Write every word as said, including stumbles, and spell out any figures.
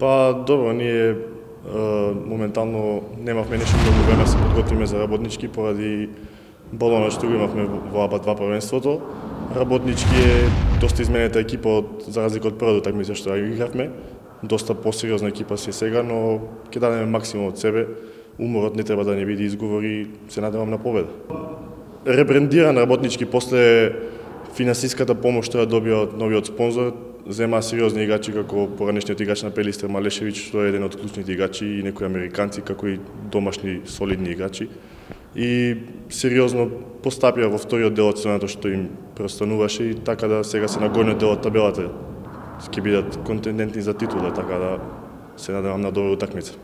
Па, добро, ние е, моментално немавме нешто многу време да се подготвиме за работнички поради балонот што го имавме во АБА два првенството. Работнички е доста изменета екипа од за разлика од првата такмица што ја игравме. Доста посериозна екипа си сега, но ќе дадеме максимум од себе. Уморот не треба да не биде изговор и се надевам на победа. Ребрендиран работнички после финансиската помош што ја добија од новиот спонзор, зема сериозни играчи како поранешниот играч на Пелистер Малешевич, што е еден од клучните играчи, и некои американци, како и домашни солидни играчи. И сериозно постапија во вториот дел од сезоната што им преостануваше, и така да сега се на горниот дел од табелата ќе бидат контендентни за титула, така да се надевам на добра утакмица.